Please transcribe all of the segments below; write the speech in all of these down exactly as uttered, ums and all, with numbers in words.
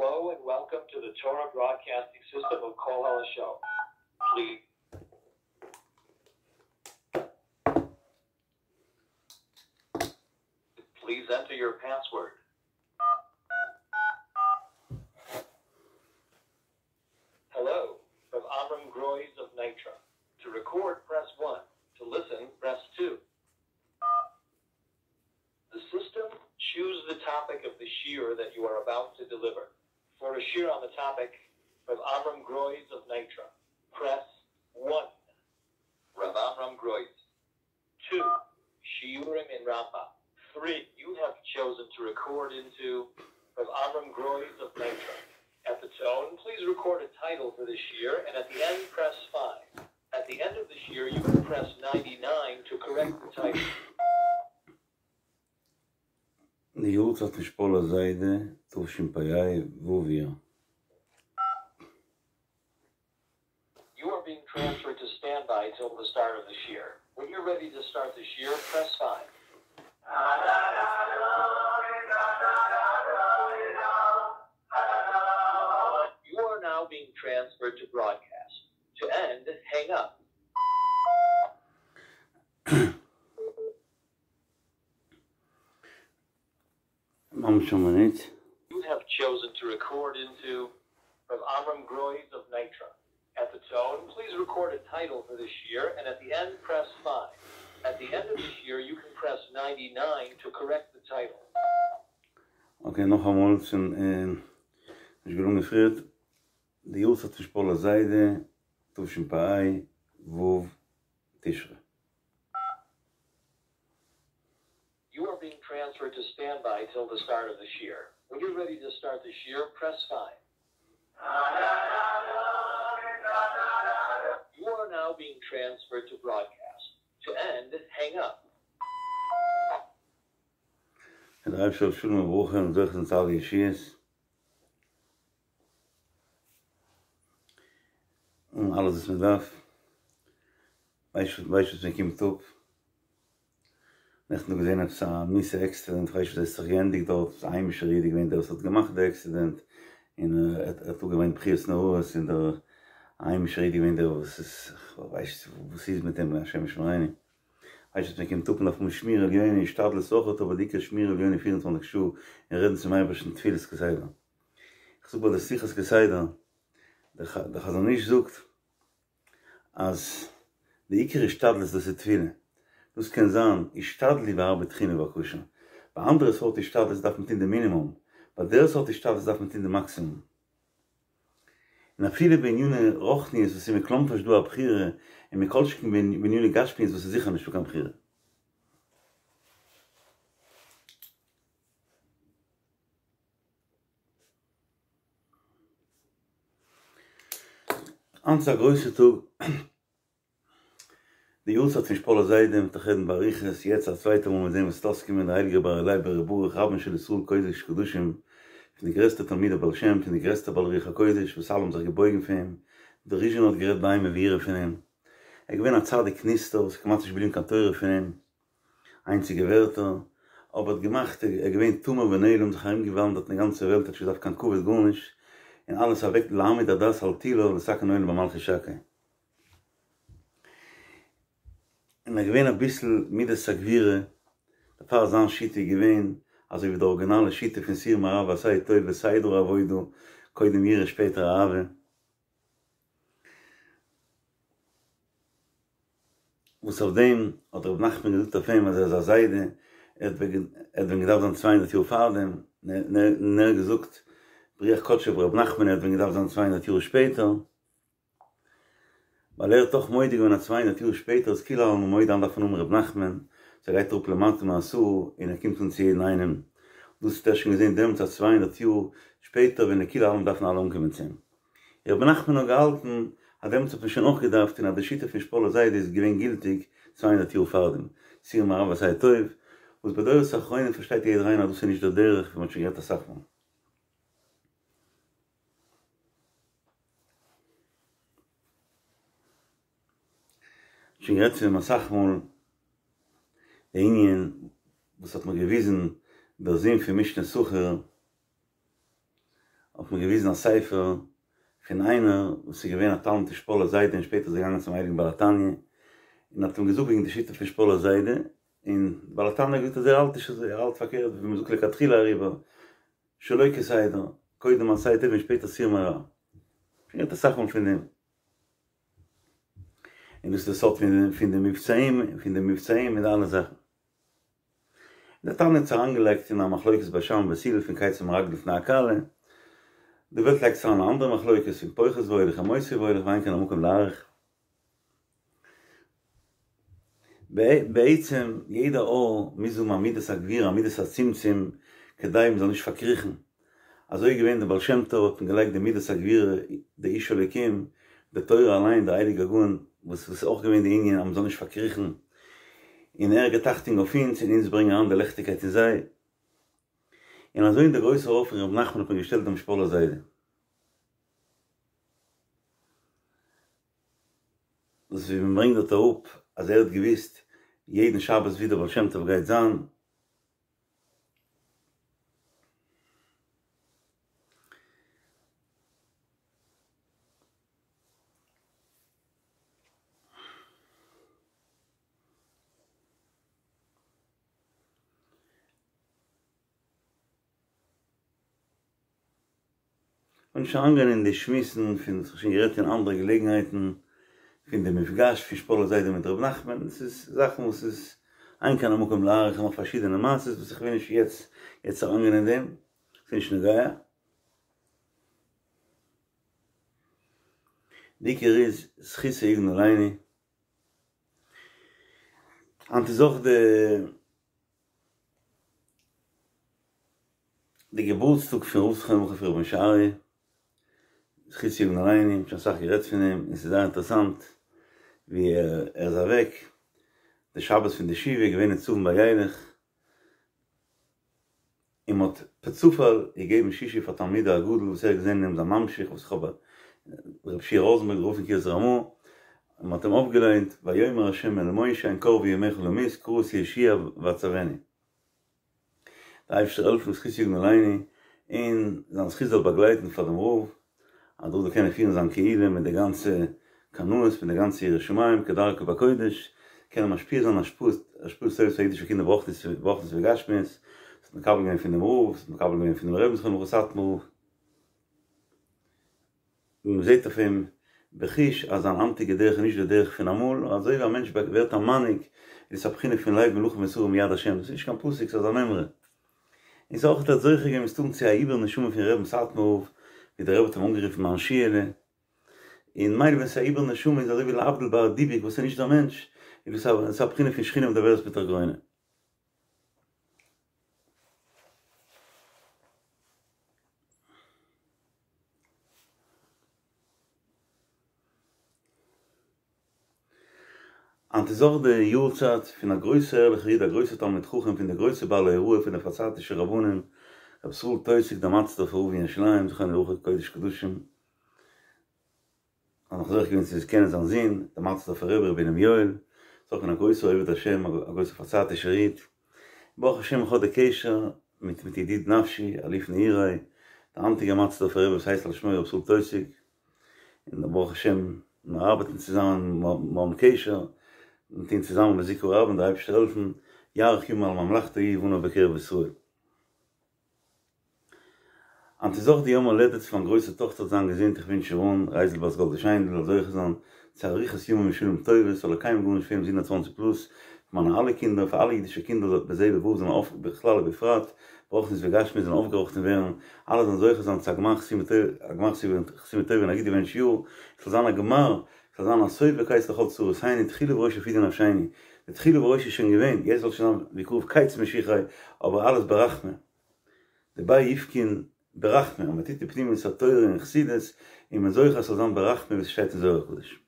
Hello and welcome to the Torah Broadcasting System of Kol Show. Please Please enter your password. Hello, from Amram Groys of Nitra. To record, press one. To listen, press two. The system choose the topic of the shiur that you are about to deliver. For a shiur on the topic of Amram Groys of Nitra, press one. Rav Amram Groys. Two. Shiurim in Rambam. Three. You have chosen to record into Rav Amram Groys of Nitra. At the tone, please record a title for this year, and at the end, press five. At the end of this year, you can press ninety-nine to correct the title. די יארצייט פון שפאלער זיידע, תשפ"ה, ו' אייר. You are being transferred to standby till the start of this year. When you're ready to start this year, press five. You are now being transferred to broadcast. To end, hang up. ממש א מינוט. You have chosen to record into Rav Amram Groys of Nitra. At the tone, please record a title for this year, and at the end, press five. At the end of this year, you can press ninety-nine to correct the title. Okay, נאכאמאל, שוין נישט געלונגען פריערט. די יארצייט פון שפאלער זיידע, תשפ"ה, ו' תשרי. You are being transferred to standby till the start of this year. When you're ready to start this year, press five. You are now being transferred to broadcast. To end, hang up. דער אייבערשטער זאל שלום וברכה און זוכה זיין צו אלע ישועות. און אלעס וואס מען דארף. ווייסט ווייסט וואס מען קומט אפ. נעכטן געזען עפעס א מיאוסע עקסידענט, כ'ווייס נישט וואס עס האט זיך געענדיגט דארט, א היימישער איד איז געווען דער וואס האט געמאכט די עקסידענט, און ער האט אפגעוויינט בכיות נוראות, און דער היימישער איד איז געווען דער וואס איז, כ'ווייס נישט וואס איז מיט אים, השם ישמרינו. ווייסט וואס מען קומט אפ, מען דארף האבן שמירה עליונה, השתדלות אויכעט, אבער די עיקר שמירה עליונה פֿיר און צוואַנציק שעה, און רעדן צום אייבערשטן תפילות כסדר. איך זאג ביי די שיחות כסדר, דער חזון איש זאגט אז די עיקר השתדלות דאס איז תפילה. דאס קען זיין השתדלי והרבה תחינה ובקשה. ביי אנדערע סארט השתדלות דארף מען טון די מינימום, ביי דער סארט השתדלות דארף מען טון די מאקסימום. און אפילו בעניני רוחניות וואס איז מכלומרשט דא א בחירה, און מכל שכן בעניני גשמיות וואס איז זיכער נישטא קיין בחירה. היינט איז א גרויסע טאג, די יארצייט פון שפאלער זיידע, מ'וועט דאך רעדן באריכות, יעצט א צווייטע מאל מיט דעם וואס ס'וועט אויסקומען דער הייליגער בר אילעאי בר ר' ברוך רבן של ישראל קודש קדשים, פון די גרעסטע תלמידי בעל שם, פון די גרעסטע בעלי רוח הקודש וואס אלע האבן זיך געבויגן פון אים, דער ריזשינער האט גערעדט באימה ויראה פון אים, ער איז געווען א צדיק נסתר וואס איז כמעט נישט געבליבן קיין תורה פון אים, איינציגע ווערטער, אבער האט געמאכט, ער איז געווען טמיר ונעלם, זיך ארום געוואנדערט אין די גאנצע וועלט, האט נישט געדארפט קיין כבוד גארנישט, און אלעס אוועק להעמיד הדת על תילה ולתקן עולם במלכות שקי. און ער איז געווען אביסל מידת הגבורה, דערפאר זיין שיטה איז געווען אזוי ווי די ארגינאלע שיטה פון סור מרע ועשה טוב וסדר העבודה, קודם יראה שפעטער אהבה. וואס אויף דעם האט ר' נחמן געזאגט אויף אים אז ער איז א זיידע, ער האט ווען געדארפט זיין צוויי הונדערט יאר פארדעם, און ער האט געזאגט ברוח קדשו אויף ר' נחמן ער האט ווען געדארפט זיין צוויי הונדערט יאר שפעטער, ווייל ער האט דאך מודה געווען אז צוויי הונדערט יאר שפעטער איז כולי עלמא מודה אז דארף מען האבן ר' נחמן, סאו ער גייט אראפ למטה מעשרה און ער קומט אן צו יעדן איינעם, דאס האט ער שוין געזען דעמאלטס אז צוויי הונדערט יאר שפעטער ווען כולי עלמא דארפן אלע אנקומען צו אים. ר' נחמן האט געהאלטן אז דעמאלטס האט מען שוין אויך געדארפט און אז די שיטה פון שפאלער זיידע איז געווען גילטיג צוויי הונדערט יאר פארדעם, סור מרע ועשה טוב, וואס בדורות האחרונים פארשטייט יעדער איינער אז דאס איז נישט דער דרך ווי מען האט שוין גערעדט אסאך מאל. שוין גערעדט פון דעם אסאך מאל, די ענין וואס האט מיר געוויזן דער זון פון משנה שכיר, האט מיר געוויזן א ספר פון איינער וואס איז געווען א תלמיד פון שפאלער זיידע און שפעטער איז ער געגאנגען צום הייליגן בעל התניא און האט אים געזאגט וועגן די שיטה פון שפאלער זיידע, און בעל התניא האט געזאגט אז ער האלט נישט אזוי, ער האלט פארקערט ווי מ'זאגט לכתחילה אריבער, שלא כסדר, קודם עשה טוב און שפעטער סור מרע. שוין געהערט אסאך מאל פון דעם. און דאס איז די סוד פון די מבצעים, פון די מבצעים מיט די אלע זאכן. דער תניא האט זיך אריינגעלייגט אין א מחלוקת בית שמאי ובית הלל פון כיצד מרקדין לפני הכלה, די וועלט לייגט זיך אריין אין אנדערע מחלוקת פון פוחת והולך און מוסיף והולך ואין כאן המקום להאריך. בעצם יעדע אור מוז האבן א מידת הגבורה א מידת הצמצום כדי מען זאל נישט פארקריכן, אזוי איז געווען די בעל שם טוב האט מען געלייגט די מידת הגבורה די איש אלוקים די תורה אליין די הייליגע גאון וואס איז אויך געווען די ענין אז מען זאל נישט פארקריכן און ער גיט אכטונג אויף אונז און אונז ברענגען אריין די ליכטיגקייט אין זיי און אזוי אין די גרויסע אור פון ר' נחמן האט מען געשטעלט דעם שפאלער זיידע. דאס ווי מען ברענגט דארט אראפ אז ער האט געוויסט יעדן שבת ווי דער בעל שם טוב גייט זיין, כ'וויל נישט אריינגיין אין די שמועסן פון וואס כ'האב שוין גערעדט אין אנדערע געלעגנהייטן, פון די מפגש פון שפאלער זיידע מיט ר' נחמן, עס איז זאכן וואס איז אין כאן המקום להאריך און נאך פארשידענע מעשות וואס איך וויל נישט יעצט יעצט אריינגיין אין דעם, ס'איז נישט נוגע. די עיקר איז זכותו יגן עלינו. היינט איז אויך די די געבורטסטאג פון רב זכרונו לברכה פון רבי משה אריה, זכותו יגן עלינו, מ'האט שוין אסאך גערעדט פון אים, און ס'איז זייער אינטערעסאנט ווי ער איז אוועק, די שבת פון די שבעה איז געווען נצבים וילך, און מ'האט פערצופאל געגעבן שישי פאר תלמידו הגדול וואס ער האט געזען אין אים זיין ממשיך וואס איך האב רבי שיע ראזענבערג רב פון קרית רמ"א, און מ'האט אים אויפגעליינט ויאמר ה' אל משה הן קרבו ימיך למות קרא את יהושע ואצונו. די אייבערשטער זאל העלפן זכותו יגן עלינו און זיין זכות זאל באגלייטן פאר דעם רב אז דער רב זאל קענען פירן זיין קהילה מיט די גאנצע קנאות מיט די גאנצע יראת שמים כדרכו בקודש קענען משפיע זיין השפעות השפעות טובות פאר אידישע קינדער ברוחניות ברוחניות וגשמיות וואס האט מקבל געווען פון דעם רב וואס האט מקבל געווען פונעם רבי'ן זכרונו לברכה סאטמאר רב. און מען זעט אויף אים בחוש אז זיין היינטיגע דרך איז נישט די דרך פון אמאל, נאר אזוי ווי א מענטש ווערט א מנהיג איז עס א בחינה פון לב מלכים ושרים מיד השם, דאס איז נישט קיין פסוק ס'איז א מימרא. און ס'איז אויך ער האט זוכה געווען מסתם צו א עיבור נשמה פון רבי'ן סאטמאר רב, ווי דער רבי האט אים אנגערופן מיין שיעלע, און מילא ווען ס'איז א עיבור נשמה איז אזוי ווי להבדיל ביי א דיבוק וואס איז נישט דער מענטש, איז דאס א בחינה פון שכינה מדברת בתוך גרונו. היינט איז אויך די יארצייט פון א גרויסע ערליכע איד א גרויסע תלמיד חכם פון די גרויסע בעלי הוראה פון די פארצייטישע רבנים רבי ישראל טויסיג דער מאטערסדארפער רב אין ירושלים זכרונו לברכה קודש קדשים האב נאך זוכה געווען צו קענען זיין זון, דער מאטערסדארפער רבי, רבי בונם יואל, איז אויך געווען א גרויסער עובד השם, א גרויסער פארצייטישער איד, ברוך השם איך האב די קשר מיט מיט ידיד נפשי, אלוף נעורי, דער היינטיגער מאטערסדארפער רבי וואס הייסט על שמו רבי ישראל טויסיג, און ברוך השם מיר ארבעטן צוזאמען, מיר האבן קשר, מיר טוען צוזאמען בזיכוי הרבים, דער אייבערשטער זאל העלפן, יאריך ימים על ממלכתו ובניו בקרב ישראל. היינט איז אויך די יום הולדת פון מיין גרויסע טאכטער זאל זיין געזונט איך ווינטש איר אן, רייזל בת גאלדע שיינדל זאל זוכה זיין צו אריכות ימים ושנים טובות זאל איר קיינמאל גארנישט פעלן ביז הונדערט צוואַנציק פלוס, פאר מיינע אלע קינדער פאר אלע אידישע קינדער זאל בזה ובבא זאלן אויף בכלל ובפרט ברוחניות וגשמיות זאלן אויפגעראכטן ווערן אלע זאלן זוכה זיין צו א גמר חתימה טובה א גמר חתימה טובה און א גוט געבענטשט יאר עס זאל זיין א גמר עס זאל זיין א סוף וקץ לכל צרותינו תחילה וראש יפודה נפשינו די תחילה וראש איז שוין געווען יעצט זאל שוין זיין בקרוב קץ משיחיה אבער אלעס ברחמי דבי יפקון ברחמי, אז מען טוט די פנימיות התורה און חסידות, איז מען זוכה אז ס'זאל זיין ברחמי ווי ס'שטייט אין זוהר הקדוש.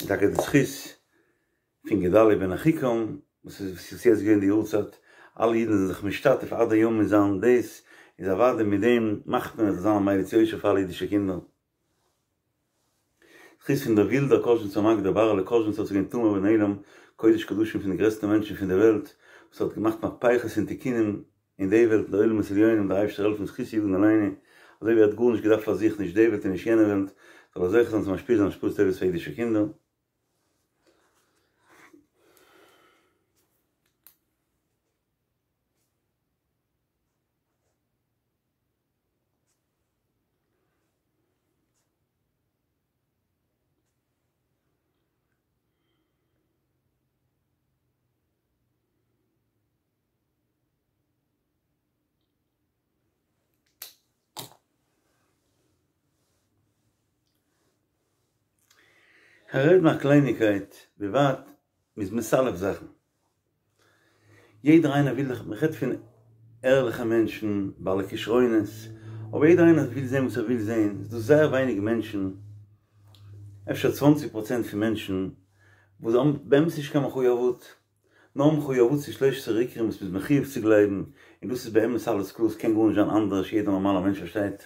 און טאקע די זכות פון גדלי' בן אחיקם, וואס איז יעצט געווען די יארצייט, אלע אידן זענען זיך משתתף עד היום אין זיין דאס, איז אוודאי מיט דעם מאכט מען עס זאל זיין א מליץ יושר פאר אלע אידישע קינדער. זכות פון דער ווילדער קאזשניצער מגיד ר' אהרעלע קאזשניצער וואס איז געווען טמיר ונעלם, קודש קדשים פון די גרעסטע מענטשן פון די וועלט, וואס האט געמאכט מהפכות און תיקונים אין די וועלט אין די עולמות עליונים, דער אייבערשטער העלפן זכותו יגן עלינו, אזוי ווי ער האט גארנישט געדארפט פאר זיך נישט די וועלט און נישט יענע וועלט, זאל ער זוכה זיין צו משפיע זיין השפעות טובות פאר אידישע קינדער. כ'רעד נאר א קלייניגקייט, ווי ווייט מ'איז מסלף זאכן. יעדער איינער וויל דאך, מ'רעדט פון ערליכע מענטשן, בעלי כשרונות, אבער יעדער איינער וויל זען וואס ער וויל זען, ס'איז דא זייער ווייניג מענטשן, אפשר צוואנציג פראצענט פון מענטשן, וואס האבן באמת נישט קיין מחויבות, נאר מחויבות צו שלשה עשרה עיקרים וואס מ'איז מחויב צו גלייבן, און דאס איז באמת אלעס קלאר, ס'קען גארנישט זיין אנדערש, יעדער נארמאלער מענטש פארשטייט.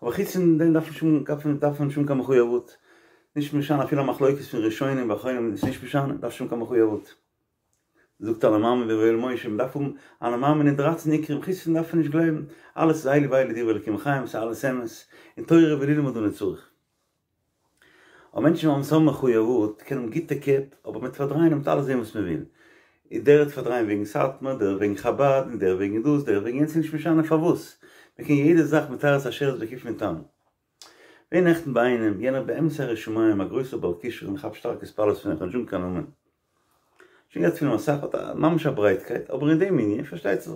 אבער חוץ פון דעם דארף מען דארף מען נישט האבן קיין מחויבות, נישט משנה אפילו א מחלוקת פון ראשונים ואחרונים איז נישט משנה, דארף נישט האבן קיין מחויבות. זאגט אני מאמין בויואל משה, מען דארף האבן אני מאמין אין דרייצן עיקרים, חוץ פון דעם דארף מען נישט גלייבן, אלעס איז אלו ואלו דברי אלקים חיים, ס'איז אלעס אמת, און תורה וללמוד אני צריך. אבער מענטשן וואס האבן מחויבות קענען האבן גוטע קעפ, אבער מ'וועט פארדרייען און מ'וועט אלעס זען וואס מ'וויל. און דער וועט פארדרייען וועגן סאטמאר, דער וועגן חבד, און דער וועגן דאס, דער וועגן יענץ, ס'איז נישט משנה פארוואס. מ'קען יעדע זאך מתרץ א שרץ בקוף מן טעם. געווען נעכטן ביי איינעם, יענער באמת א ירא שמים, א גרויסער בעל כשרון, איך האב שטארק התפעלות פון אים, כ'וועל נישט זאגן קיין נאמען. שוין געהערט פון אים אסאך, האט א ממש א ברייטקייט, אבער אין דעם ענין, פארשטייט זיך,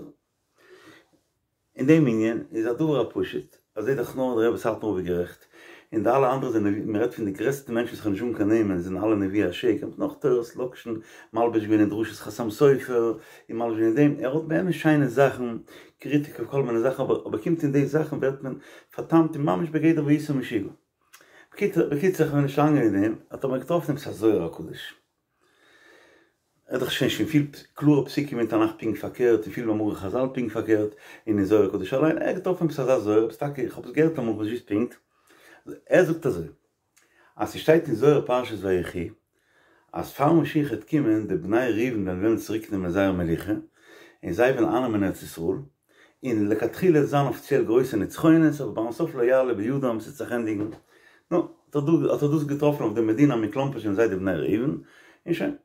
אין דעם ענין איז א דבר הפשוט, אז זעט דאך נאר דער רבי סאטמאר רב איז גערעכט, און די אלע אנדערע זענען, מען רעדט פון די גרעסטע מענטשן וואס כ'וועל נישט זאגן קיין נעמען, זענען אלע נביאי השקר, מיט נאך תורות לאקשן, מלבש געווען אין דרשות חתם סופר, און מלבש געווען אין דעם, ער האט באמת שיינע זאכן, קריטיק אויף כל מיני זאכן, אבער אבער קומט אין די זאכן ווערט מען פארטאמט און ממש בגדר והיית משוגע. בקיצור כ'וועל נישט לאנג אין דעם, האט ער מיר געטראפן עפעס א זוהר הקדוש. ער האט דאך שוין שוין פיל קלארע פסוקים אין תנך פונקט פארקערט און פיל מאמרי חזל פונקט פארקערט און אין זוהר הקדוש אליין, ער האט געטראפן עפעס אזא זוהר, עפעס טאקע, איך האב עס געהערט אמאל כ'ווייס נישט פונקט, ער זאגט אזוי, אז ס'שטייט אין זוהר פרשת ויחי אז פאר משיח העט קומען די בני ראובן וועלן וועלן צוריק נעמען זייער מלוכה און זיי וועלן אייננעמען ארץ ישראל, און לכתחילה וועט זיין אפיציעל גרויסע נצחונות אבער ביים סוף לא יעלה בידם ס'וועט זיך ענדיגן, נו, האט ער דאס געטראפן אויף די מדינה מקלומפערט זענען זיי די בני ראובן, און שוין.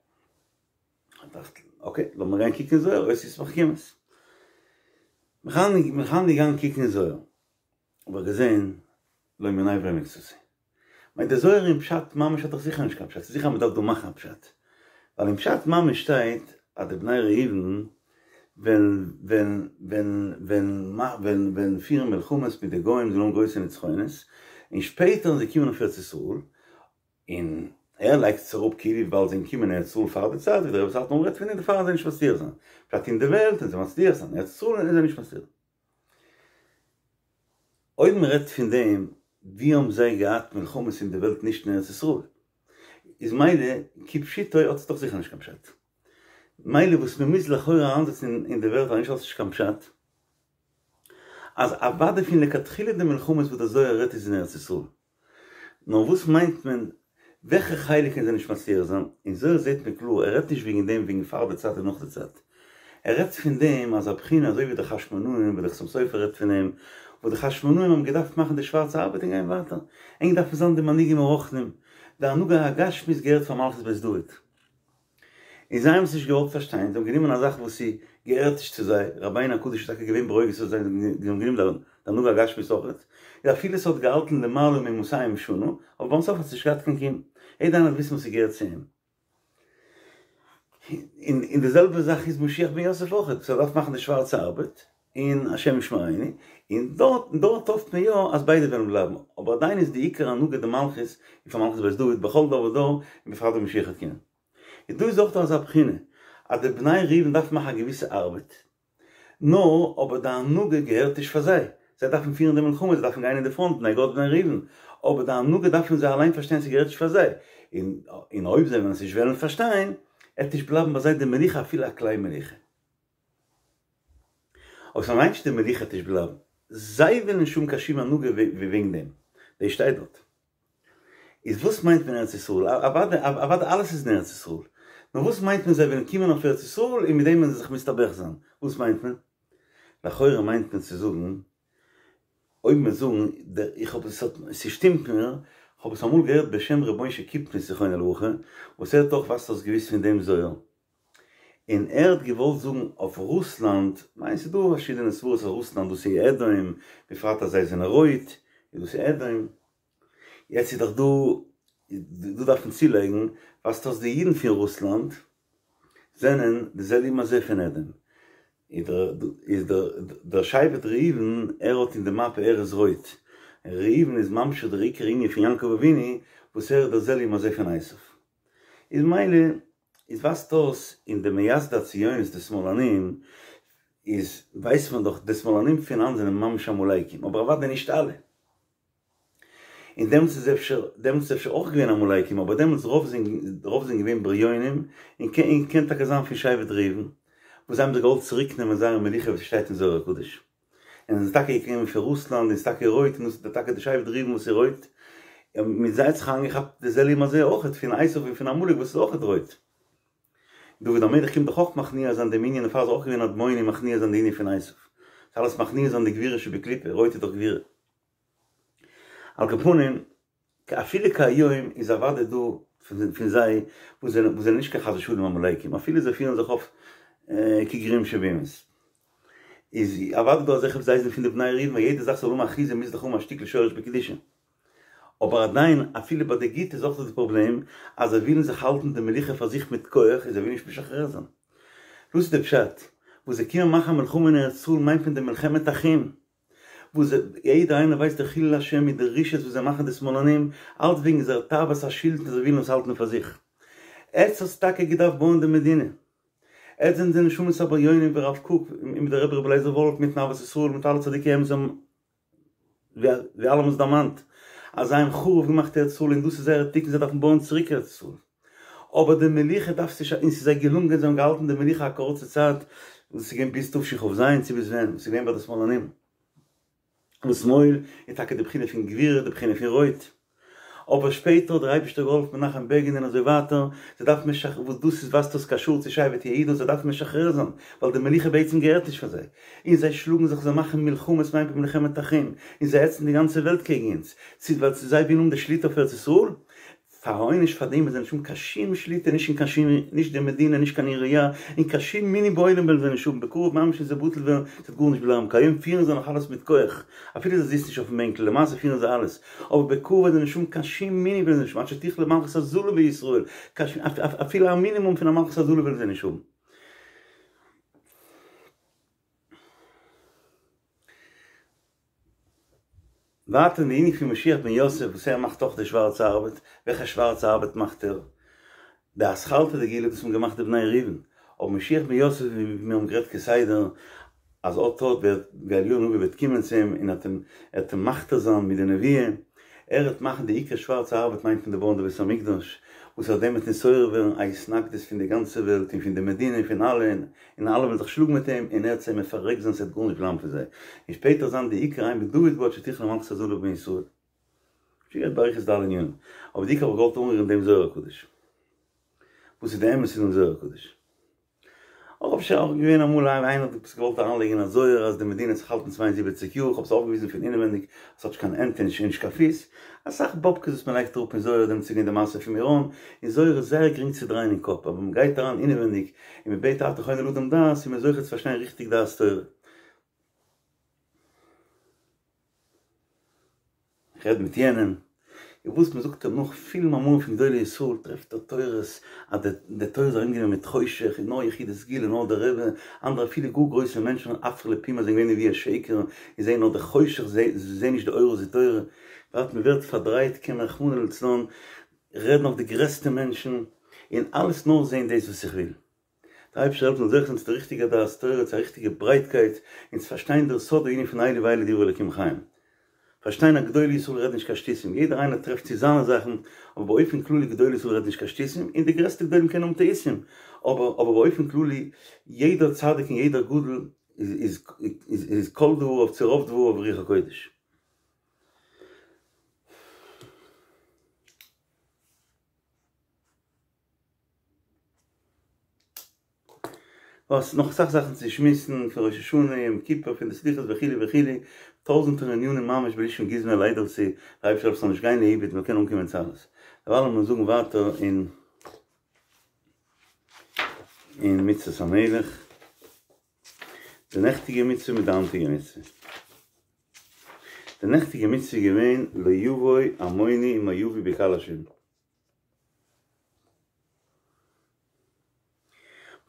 כ'דאכט, אקעי, לאמיר גיין קוקן אין זוהר, אותיות מחכימות. מיר זענען געגאנגען קוקן אין זוהר, האב איך געזען לא מיניה ולא מקצתיה. מיין דער זוהר אין פשט ממש האט דאך זיכער נישט קיין פשט, ס'איז זיכער אז מ'דארף דא מאכן א פשט. ווייל אין פשט ממש שטייט אז די בני ראובן וועלן וועלן וועלן וועלן וועלן וועלן פירן מלחמות מיט די גוים, זיי וועלן האבן גרויסע נצחונות, און שפעטער ווען זיי קומען אויף ארץ ישראל, און ער לייגט עס אראפ כאילו וויבאלד זיי קומען ארץ ישראל פאר די צייט, ווי דער רבי סאטמאר רעדט פון דעם, דערפאר וועלן זיי נישט מצליח זיין. פשט אין די וועלט וועלן זיי מצליח זיין, ארץ ישראל וועלן זיי נישט מצליח. אויב מען רעדט פון דעם ווי האבן זיי געהאט מלחמות אין די וועלט נישט אין ארץ ישראל, איז מילא כפשוטו האט עס דאך זיכער נישט קיין פשט. מילא וואס מען מוז לכאורה אריינזעצן אין די ווערטער נישט האט עס נישט קיין פשט, אז אוודאי פון לכתחילה די מלחמות וואס דער זוהר רעדט איז אין ארץ ישראל. נאר וואס מיינט מען וועלכע חלק קען זיי נישט מצליח זיין? אין זוהר זעהט מען קלאר ער רעדט נישט וועגן דעם וועגן פאר די צייט און נאך די צייט, ער רעדט פון דעם אז א בחינה אזוי ווי די חשמונאים ווי די חתם סופר רעדט פון דעם וואס די חשמונאים האבן געדארפט מאכן די שווארצע ארבעט און גיין ווייטער, ענק דארפן זיין די מנהיגים הרוחניים, די הנהגה הגשמית געהערט פאר מלכות בית דוד. און זיי האבן עס נישט געוואלט פארשטיין, זיי האבן גענומען א זאך וואס איז געהערט נישט צו זיי, רבינו הקדוש איז טאקע געווען ברוגז אויף זיי, זיי האבן גענומען די הנהגה הגשמית אויכעט, און אפילו עס האט געהאלטן למעלה ממאתיים שנה, אבער ביים סוף האט עס נישט געהאט קיין קיום, יעדער איינער האט געוואוסט וואס ס'געהערט צו אים. און די זעלבע זאך איז משיח בן יוסף אויכעט, וואס ער דארף מאכן די שווארצע ארבעט, און השם ישמרינו, און דארט דארט האפט מען יא אז ביידע וועלן בלייבן, אבער עדיין איז די עיקר הנהגה די מלכות איז פאר מלכות בית דוד בכל דור ודור, און בפרט ווען משיח וועט קומען. און דא איז אויך דא אזא בחינה, אז די בני ראובן דארפן מאכן א געוויסע ארבעט, נאר אבער די הנהגה געהערט נישט פאר זיי, זיי דארפן פירן די מלחמה, זיי דארפן גיין אין די פראנט, בני גד בני ראובן, אבער די הנהגה דארפן זיי אליין פארשטיין ס'געהערט נישט פאר זיי, און און אויב זיי וועלן עס נישט וועלן פארשטיין, עט נישט בלייבן ביי זיי די מלוכה אפילו א קליין מלוכה. אבער ס'מיינט נישט די מלוכה עט נישט בלייבן, זיי וועלן נישט האבן קיין שום הנהגה וועגן דעם, דאס שטייט דארט. איז וואס מיינט מען ארץ ישראל? אוודאי אוודאי אלעס איז אין ארץ ישראל. נאר וואס מיינט מען זיי וועלן קומען אויף ארץ ישראל און מיט דעם וועלן זיי זיך מסתבך זיין? וואס מיינט מען? לכאורה מיינט מען צו זאגן, אויב מיר זאגן, איך האב עס, ס'שטימט מיר, כ'האב עס אמאל געהערט בשם ר' משה קיפניס זכרונו לברכה, וואס ער האט אויך ווייזט אויס געוויסט פון דעם זוהר, און ער האט געוואלט זאגן אויף רוסלאנד, כ'מיין ס'איז דא פארשידענע סברות אז רוסלאנד דאס איז אדום, בפרט אז זיי זענען רויט, איז דאס אדום. יעצט איז דאך דא, דא דארף מען צולייגן, ווייזט אויס די אידן פון רוסלאנד זענען די זה לעומת זה פון אדום, איז דער דער שבט ראובן ער האט אין די מפה ער איז רויט, ראובן איז ממשיך דער עיקר ענין פון יעקב אבינו וואס ער איז דער זה לעומת זה פון עשיו, איז מילא איז ווייזט אויס אין די מייסדי הציונות די שמאלנים איז ווייסט מען דאך די שמאלנים פון היינט זענען ממש עמלקים אבער אוודאי נישט אלע. און דעמאלטס איז אפשר, דעמאלטס איז אפשר אויך געווען עמלקים, אבער דעמאלטס רוב זענען, רוב זענען געווען בריונים, און קען, קען טאקע זיין פון שבט ראובן, וואס זיי האבן זיך געוואלט צוריק נעמען זייער מלוכה ווי ס'שטייט אין זוהר הקדוש. און זענען טאקע געקומען פון רוסלאנד און ס'איז טאקע רויט און דאס איז טאקע די שבט ראובן וואס איז רויט, און מיט זיי האט זיך איינגעכאפט די זה לעומת זה אויכעט פון עשיו און פון עמלק וואס איז אויכעט רויט. דוד המלך קומט דאך אויך מכניע זיין דעם ענין דערפאר איז אויך געווען אדמוני מכניע זיין די ענין פון עשיו. ס'איז אלעס מכניע זיין די גבורה שבקליפה, רויט איז דאך גבורה. על כל פנים, אפילו כהיום איז אוודאי דא פון זיי וואס זענען וואס זענען נישט קיין חס ושלום עמלקים, אפילו זיי פירן זיך אויף כגרועים שבאומות. איז אוודאי דא אזעלכע וואס זיי זענען פון די בני ראובן, ווייל יעדע זאך זאל האבן אחיזה מוז דאך האבן א שטיקל שורש בקדושה. אבער עדיין אפילו ביי די גוטע איז אויך דא די פראבלעם אז זיי ווילן זיך האלטן די מלוכה פאר זיך מיט כח און זיי ווילן נישט משחרר זיין. דאס איז די פשט וואס זיי קומען מאכן א מלחמה אין ארץ ישראל מיינט מען די מלחמת אחים. וואס יעדער איינער ווייסט די חילול השם מיט די רשעות וואס זיי מאכן די שמאלנים, אלץ וועגן זייער תאוות השלטון זיי ווילן עס האלטן פאר זיך. עטס האטס טאקע געדארפט בויען די מדינה. עטס זענט די נשמות הבריונים ווי הרב קוק און מיט דער רבי רבי אליעזר וואלף מיטן אהבת ישראל מיט אלע צדיקי אמת האבן ווי אלעמאל דערמאנט אז זיי האבן חרוב געמאכט ארץ ישראל און דאס איז זייער תיקון זיי דארפן בויען צוריק ארץ ישראל. אבער די מלוכה דארפסטו נישט און ס'איז זיי געלונגען זיי האבן געהאלטן די מלוכה א קורצע צייט און ס'איז געווען ביז תשכ"ז צו ביז ווען ס'איז געווען ביי די שמאלנים וואס שמאל איז טאקע די בחינה פון גבורה די בחינה פון רויט אבער שפעטער האט דער אייבערשטער געהאלפן מנחם בעגין און אזוי ווייטער זיי דארפן משחרר וואס דאס איז ווייזט אויס קשור צו שבט יהודה זיי דארפן משחרר זיין ווייל די מלוכה בעצם געהערט נישט פאר זיי און זיי שלאגן זיך זיי מאכן מלחמות מיינט מען מלחמת אחים און זיי העצן די גאנצע וועלט קעגן אונז צו ווייל זיי ווילן האבן די שליטה אויף ארץ ישראל פאר א עונש פאר דעם וועלן זיי נישט האבן קיין שום שליטה נישט אין קיין שום נישט די מדינה נישט קיין עירייה און קיין שום מנין בעולם וועלן זיי נישט האבן בקרוב ממש וועט זיי בטל ווערן ס'וועט גארנישט בלייבן כהיום פירן זיי נאך אלעס מיט כח אפילו זיי זיצן נישט אויפן בענקל למעשה פירן זיי אלעס אבער בקרוב וועלן זיי נישט האבן קיין שום מנין וועלן זיי נישט האבן עד שתכלה מלכות הזלה בישראל אפילו א מינימום פון א מלכות הזלה וועלן זיי נישט האבן. ווייטער אין די ענין פון משיח בן יוסף וואס ער מאכט אויך די שווארצע ארבעט, וועלכע שווארצע ארבעט מאכט ער? די אתחלתא דגאולה וואס האבן געמאכט די בני ראובן, אבער משיח בן יוסף ווי מיר האבן גערעדט כסדר אז אט אט וועט ווי אליהו הנביא וועט קומען צו אים און ער וועט אים מכתיר זיין מיט די נבואה, ער וועט מאכן די עיקר שווארצע ארבעט מיינט מען די בויען די בית המקדש, וואס אויף דעם וועט נתעורר ווערן א התנגדות פון די גאנצע וועלט און פון די מדינה און פון אלע, און אלע וועלן זיך שלאגן מיט אים, און ער וועט זיי מפרק זיין ס'וועט גארנישט בלייבן פון זיי, און שפעטער זיין די עיקר אם בן דוד בא עד שתכלה מלכות הזלה בישראל. שוין גערעדט באריכות די אלע ענינים, אבער די עיקר האב איך געוואלט אנרירן דעם זוהר הקדוש. וואס איז די אמת אין דעם זוהר הקדוש? אויך אפשר אויך געווען אמאל איינער האט עפעס געוואלט אריינלייגן אין א זוהר אז די מדינה האט זיך געהאלטן צוויי און זיבעציק יאר, איך האב עס אויפגעוויזן פון אינעווענדיג אז ס'האט נישט קיין הענט און נישט קיין פיס, אסאך באבקעס וואס מ'לייגט אראפ אין זוהר דעם צו גיין די מעשה פון מירון, אין זוהר איז זייער גרינג צו דרייען אין קאפ אבער ווען מ'גייט אריין אינעווענדיג און מ'בעט אתה חונן לאדם דעת איז מען זוכה צו פארשטיין ריכטיג דעת תורה. איך רעד מיט יענעם, און וואס מען זאגט אים נאך פיל מאמרים פון גדולי ישראל טרעפט ער תורות אז די תורה איז ארומגענומען מיט חושך און נאר יחידי סגולה נאר דער רבי, אנדערע אפילו גאר גרויסע מענטשן עפרא לפומיה זענען געווען נביאי שקר און זעען נאר די חושך זיי זעען נישט די אור זו תורה, ווארט מען ווערט פארדרייט קען מען רחמנא לצלן רעדן אויף די גרעסטע מענטשן און אלעס נאר זען דאס וואס איך וויל. דער אייבערשטער זאל העלפן זוכה זיין צו די ריכטיגע דעת תורה, צו א ריכטיגע ברייטקייט, און צו פארשטיין דער סוד הענין פון אלו ואלו דברי אלוקים חיים. פארשטיין אז גדולי ישראל רעדן נישט קיין שטותים, יעדער איינער טרעפט צו זיינע זאכן, אבער באופן כללי גדולי ישראל רעדן נישט קיין שטותים, און די גרעסטע גדולים קענען האבן טעותים, אבער אבער באופן כללי יעדער צדיק און יעדער גדול איז איז איז כל דבריו צו רוב דבריו רוח הקודש. וואס נאך אסאך זאכן צו שמועסן פון ראש השנה, יום כיפור, פון די סליחות וכו' וכו', טויזענטער ענינים ממש בלי שום גוזמא ליידער צו דער אייבערשטער העלפן ס'זאל נישט גיין לאיבוד מ'זאל קענען אנקומען צו אלעס. דערווייל לאמיר זאגן ווייטער אין אין מצות המלך, די נעכטיגע מצוה מיט די היינטיגע מצוה. די נעכטיגע מצוה איז געווען לא יבוא עמוני ומואבי בקהל השם.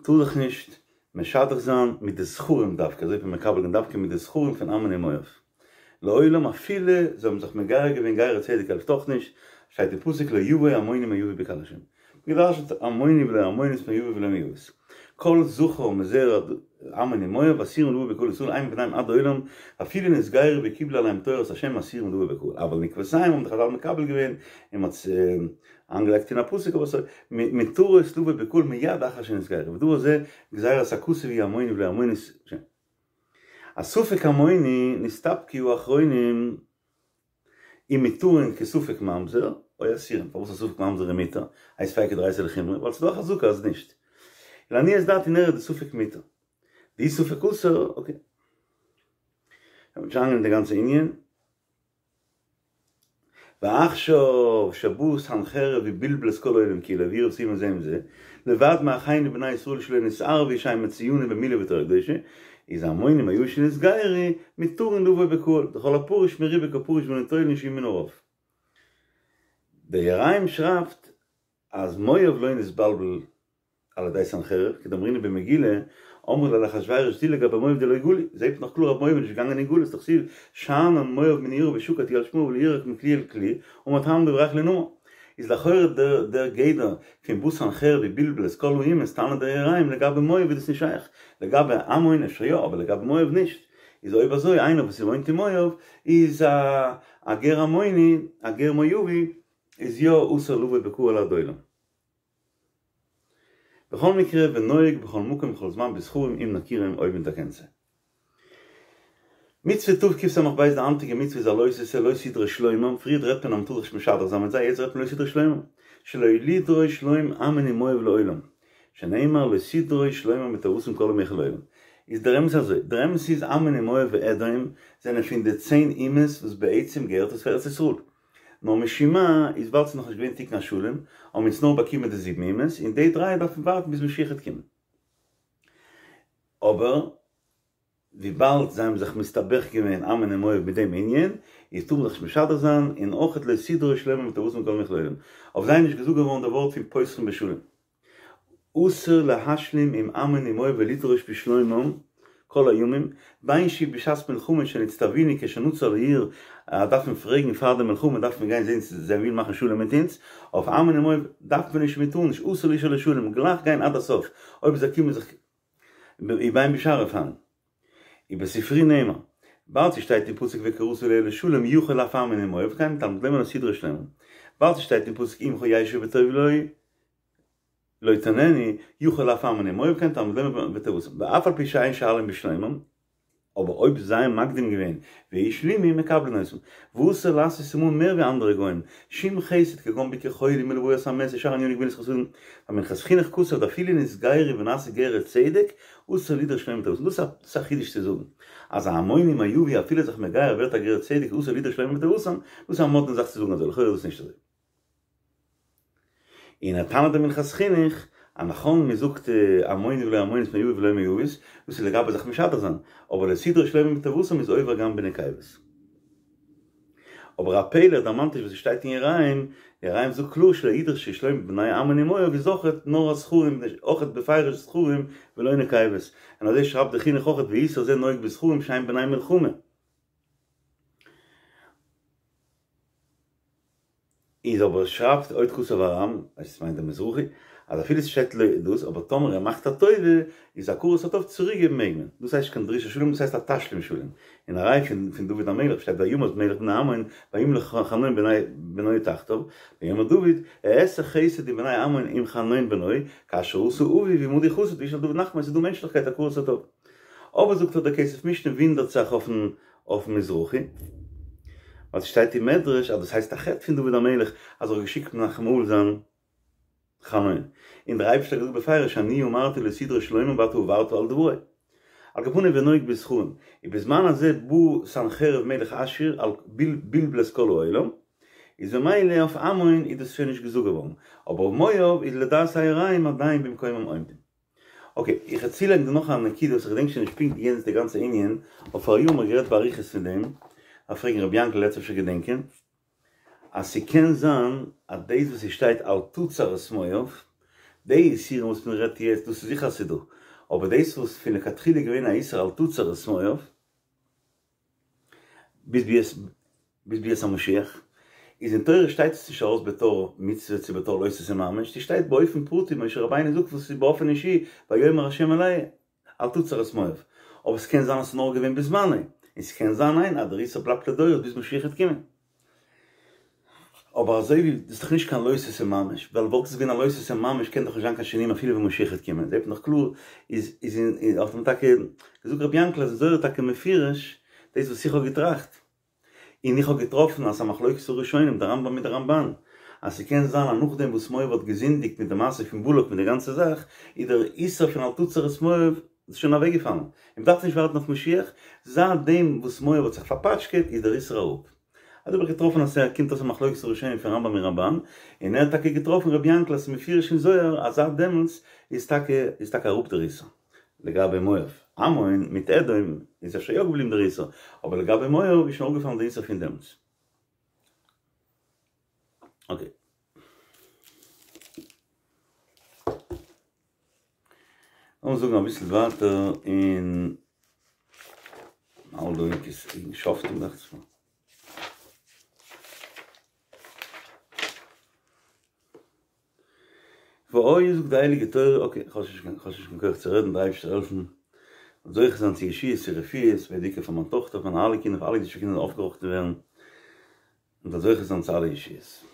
מ'טאר זיך נישט משדך זיין מיט די זכרים דווקא, אזוי האט מען מקבל געווען דווקא מיט די זכרים פון עמון און מואב. לעולם אפילו זיי האבן זיך מגייר געווען גירי צדק העלפט אויך נישט, שטייט אין פסוק לא יבוא עמוני ומואבי בקהל השם. געדרשנט עמוני ולא עמונית מואבי ולא מואבית. כל זכר מזרע עמון ומואב אסורים לבוא בקהל ישראל הם ובניהם עד עולם אפילו נתגיירו וקיבלו עליהם תורת השם אסורים לבוא בקהל אבל נקבותיהם האבן די חזל מקבל געווען און מ'האט איינגעלייגט אין א פסוק אבער ס'איז מותרות לבוא בקהל מיד אחר שנתגיירו ודבר זה גזירת הכתוב הוא עמוני ולא עמונית א ספק עמוני נסתפקו האחרונים אם מותרין כספק ממזר או אסורין, פארוואס א ספק ממזר איז מותר, האי ספיקא דאורייתא לחומרא, ווייל ס'איז דא א חזקה אז נישט. לעניות דעתי נראה דספק מותר. דאי ספק אסור, אקעי. מ'וועט נישט אריינגיין אין די גאנצע ענין. ועכשיו שבא סנחריב ובלבל את כל העולם כולו ועירב ריבם זה עם זה, לבד מאחינו בני ישראל שלא נתערבו שהם מצויינים במילה ובתורה קדושה, איז עמוני ומואבי שנתגיירו מותרין לבוא בקהל, דכל הפרוש מריבה כפרוש ואין תולין שהוא מן הרוב. דער יראים שרייבט אז מואב לא נתבלבל על ידי סנחריב, כדאמרינן במגילה, אמרו ליה לאחשוורוש זיל לגבי מואב דלא גלו, זעהט מען דאך קלאר אז מואב איז נישט געגאנגען אין גלות, דכתיב שאנן מואב מנעוריו ושקט הוא על שמריו ולא ירק מכלי אל כלי, אמר תלמוד ברך לנמר. איז לכאורה דער דער גדר פון בא סנחריב ובלבל את כל האומות טענה'ט דער יראים לגבי מואב איז דאס נישט שייך, לגבי עמון אפשר יא אבער לגבי מואב נישט, איז אויב אזוי איינער וואס וואוינט אין מואב איז א א גר עמוני א גר מואבי איז יא אסור לבוא בקהל עד עולם. בכל מקרה ונוהג בכל מקום ובכל זמן בזכרים אם נכירם אויב מען דערקענט זיי. מצוה תקס"ב די היינטיגע מצוה איז א לא תעשה לא תדרוש שלומם, פריערט רעדט מען אז מ'טאר זיך נישט משדך זיין מיט זיי, יעצט רעדט מען לא תדרוש שלומם, שלא לדרוש שלום עמון ומואב לעולם, שנאמר לא תדרוש שלומם בטובתם כל ימיך לעולם. איז דער אמת אזוי, דער אמת איז עמון ומואב ואדום זענען פון די צען אומות וואס בעצם געהערט עס פאר ארץ ישראל, נאר משום מה איז ווייל ס'איז נאכנישט געווען תיקון השלם האבן אונז נאר באקומען די זיבן אומות און די דריי דארף מען ווארטן ביז משיח וועט קומען. אבער וויבאלד זיי האבן זיך מסתבך געווען עמון און מואב מיט דעם ענין, איז טאר מען זיך נישט משדך זיין, און אויכעט לא תדרוש שלומם בטובתם כל ימיך לעולם. אויף זיי איז נישט געזאגט געווארן די ווארט פון פותחין בשלום. אסור להשלים עם עמון ומואב ולדרוש בשלומם כל הימים, בין שהיא בשעת מלחמה שנצטווינו כשנצור לעיר, דארף מען פרעגן פאר די מלחמה דארף מען גיין זען צו זיי ווילן מאכן שלום מיט אונז, אויף עמון ומואב דארף מען נישט מען טאר נישט, אסור לשאול לשלום, גלייך גיין עד הסוף, אויב זיי קומען זיך ובין בשאר אופנים. ובספרי נאמר, ווייל ס'שטייט אין פסוק וקראת אליה לשלום יכול אף עמון ומואב כן, תלמוד לומר לא תדרוש שלומם. ווייל ס'שטייט אין פסוק עמך ישבו בטוב לו לא תעננו, יכול אף עמון ומואב כן תלמוד לומר בטובתם. ואף על פי שאין שואלין בשלומם, אבער אויב זיי האבן מקדים געווען והשלימו מקבלין אותם, ואסור לעשות עמהם מער ווי אנדערע גוים, שום חסד כגון ביקור חולים ולוויית המת ושאר עניני גמילות חסדים, והמנחת חינוך כתב דאפילו נתגיירו ונעשו גרי צדק, אסור לדרוש שלומם בטובתם. דאס איז א חידוש צו זאגן אז א עמוני מואבי אפילו זיך מגייר ווערט א גר צדק אסור לדרוש שלומם בטובתם, דאס איז א מאדנע זאך צו זאגן אזוי, לכאורה איז דאס נישט אזוי. און ער טענה'ט די מנחת חינוך אז נכון מען זאגט עמוני ולא עמונית מואבי ולא מואבית, דאס איז לגבי זיך משדך זיין, אבער לא תדרוש שלומם בטובתם איז עובר גם בנקבות. אבער א פלא ער דערמאנט נישט וואס עס שטייט אין יראים, יראים זאגט קלאר שלא ידרשו שלום בני עמון ומואב איז אויכעט נאר א זכרים אויכעט בפירוש זכרים ולא נקבות, און אזוי שרייבט די חינוך אויכעט ואיסור זה נוהג בזכרים שהם בני מלחמה. איז אבער שרייבט עוד כתב הר"ם, עס מיינט דער מזרחי, אז אפילו עס שטייט לא דאס, אבער טאמער ער מאכט א טובה, איז הכרת הטוב צוריקגעבן מעג מען. דאס הייסט נישט קיין דרישת שלום, דאס הייסט א תשלום שלום. און א ראי' פון פון דוד המלך שטייט וימת מלך בני עמון וימלך חנון בנו תחתיו, ויאמר דוד, אעשה חסד עם בני עמון עם חנון בנו, כאשר עשה אבי ועמדי חסד וישאל דוד נחמה, עס איז דא מענטשליכקייט הכרת הטוב. אבער זאגט ער דער כסף משנה וואונדערט זיך אויפן אויפן מזרחי, ווייל ס'שטייט אין מדרש אז דאס הייסט א חטא פון דוד המלך אז ער האט געשיקט מנחם אבל זיין חנון, און דער אייבערשטער האט געזאגט בפירוש אני אמרתי לא תדרוש שלומם ואתה עברת על דברי. על כל פנים ונוהג בזכרים, ובזמן הזה בא סנחריב מלך אשור על בלבל את כל העולם, איז ממילא אויף עמון איז דאס שוין נישט געזאגט געווארן, אבער אויף מואב איז לדעת היראים עדיין במקומם עומדים. אקעי, איך וועל צולייגן דא נאך א נקודה וואס איך געדענק שוין נישט פונקט יענץ די גאנצע ענין, אבער פאראיאר האבן מיר גערעדט באריכות פון דעם, דארף פרעגן רבי יענקל ער וועט אפשר געדענקען, אז ס'קען זיין אז דאס וואס ס'שטייט אל תצר את מואב, די איסורים וואס מען רעדט יעצט דאס איז זיכער אז ס'דא, אבער דאס וואס פון לכתחילה איז געווען א איסור אל תצר את מואב, ביז ביאת ביז ביאת המשיח, איז אין תורה שטייט עס נישט ארויס בתור מצוה צו בתור לא תעשה ממש, ס'שטייט באופן פרטי משה רבינו זאגט וואס איז באופן אישי ויאמר ה' אלי אל תצר את מואב, אבער ס'קען זיין אז ס'איז נאר געווען בזמנו, און ס'קען זיין ניין אז דער איסור בלייבט לדורות ביז משיח וועט קומען. אבער אזוי ווי דאס איז דאך נישט קיין לא תעשה ממש, ווייל וואלט עס געווען א לא תעשה ממש קען דאך נישט זיין קיין שינויים אפילו ווען משיח וועט קומען, זעט מען דאך קלאר איז איז אין האט מען טאקע געזאגט רבי יענקל אז אין זוהר איז טאקע מפורש דאס וואס איך האב געטראכט, און איך האב געטראפן אז ס'איז א מחלוקת הראשונים די רמב"ם מיט די רמב"ן, אז ס'קען זיין אז נאכדעם וואס מואב האט געזינדיגט מיט די מעשה פון בלק מיט די גאנצע זאך, איז דער איסור פון אל תצר את מואב שוין אוועקגעפאלן, און מ'דארף נישט ווארטן אויף משיח, זייט דעם וואס מואב האט זיך פארפאטשקעט איז דער איסור אראפ. אזוי האב איך געטראפן אז ס'קומט אויס א מחלוקת הראשונים פון רמב"ם און רמב"ן, און ער האט טאקע געטראפן רבי יענקל אז ס'איז מפורש אין זוהר אז זייט דעמאלטס איז טאקע איז טאקע אראפ דער איסור. לגבי מואב, עמון מיט אדום איז אפשר יא געבליבן דער איסור, אבער לגבי מואב איז שוין אראפגעפאלן דער איסור פון דעמאלטס. אקעי. לאמיר זאגן אביסל ווייטער אין אלדא אין שופטים דאכט זיך מיר. והיה זאגט די הייליגע תורה, אקעי, כ'האב שוין נישט קיין כח צו רעדן, דער אייבערשטער העלפן, זאל זוכה זיין צו ישועות צו רפואות, בעיקר פאר מיין טאכטער, פאר מיינע אלע קינדער, פאר אלע אידישע קינדער זאלן אויפגעראכטן ווערן, און זאל זוכה זיין צו אלע ישועות.